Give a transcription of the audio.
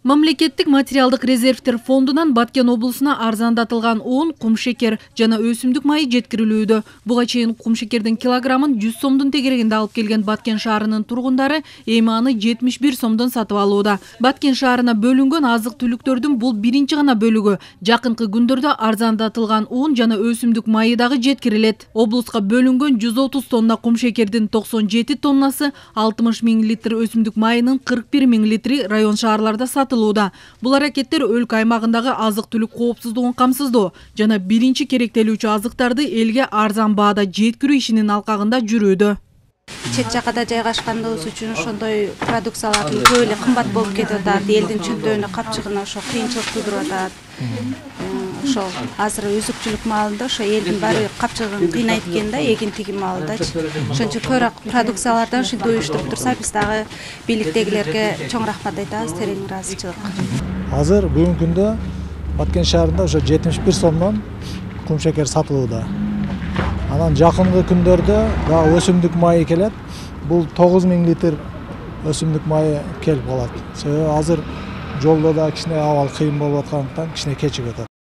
Мамлекеттик материалдык резервтер фондунан Баткен облусуна арзандатылган un, кумшекер жана өсүмдүк майы жеткирилүүдө. Буга чейин кумшекердин килограммын 100 сомдун тегерегинде алып келген Баткен шаарынын тургундары эми аны 71 сомдон сатып алууда. Баткен шаарына бөлүнгөн азык-түлүктөрдүн бул биринчи гана бөлүгү. Жакынкы күндөрдө арзандатылган un жана өсүмдүк майы дагы жеткирилет. Облуска бөлүнгөн 130 тонна кумшекердин 97 тоннасы, 60 000 литр өсүмдүк майынын 41 000 литри район шаарларда сатылууда. Бул аракеттер өлкө аймагындагы азык-түлүк коопсуздугун камсыздоо жана биринчи керектелүүчү азыктарды элге арзан баада жеткирүү ишинин алкагында жүрүүдө. Чет жакада жайгашканыбыз үчүн ошондой продукциялардын көп эле кымбат болуп кетип атат. Элдин чөнтөгүнө капчыгына ошо кыйынчылык туудуруп атат. Ошо азыр үзүкчүлүк маалында ошо элдин баары капчыгын кыйнайт экен да, эгин тигин маалдачы. Ошон үчүн көбүрөөк продукциялардан ушинтип уюштуруп турса, биз дагы бийликтегилерге чоң рахмат айтабыз, терең ыраазычылык. Азыр бүгүнкү күндө Баткен шаарында ошо 71 сомдон кумшекер сатылууда. Анан жакынкы күндөрдө дагы өсүмдүк майы келет. Бул 9000 литр өсүмдүк майы келип калат. Себеби азыр жолдо да кичине абал кыйын болуп аткандыктан кичине кечигип атат.